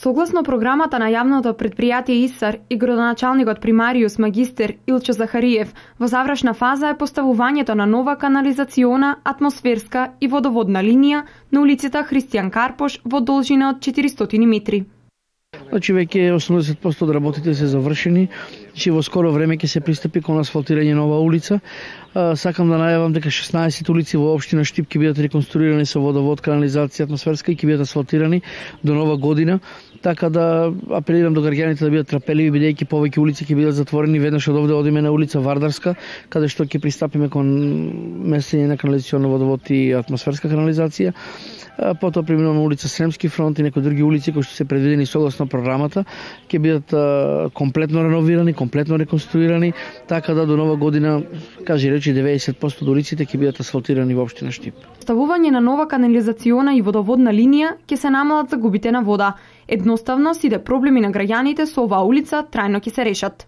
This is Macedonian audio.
Согласно програмата на јавното предпријатие ИСАР и градоначалникот примариус магистер Илчо Захариев, во завршна фаза е поставувањето на нова канализациона, атмосферска и водоводна линија на улицата Христијан Карпош во должина од 400 метри. Значи веќе 80% од работите се завршени, че во скоро време ќе се пристапи кон асфалтирање нова улица. Сакам да најавам дека 16 улици во општина Штип ќе бидат реконструирани со водовод, канализација, атмосферска и ќе бидат асфалтирани до нова година. Така да апелирам до граѓаните да бидат трпеливи, бидејќи повеќе улици ќе бидат затворени. Веднаш од овде одиме на улица Вардарска, каде што ќе пристапиме кон месење на канализационен водовод и атмосферска канализација. Потоа преминуваме улица Сремски фронт и некои други улици кои што се предвидени согласно програмата, ќе бидат комплетно реновирани, комплетно реконструирани, така да до нова година, кажи речи 90% од улиците ќе бидат асфалтирани во општина Штип. Ставување на нова канализациона и водоводна линија ќе се намалат загубите на вода. Едноставно, сите проблеми на граѓаните со оваа улица трајно ќе се решат.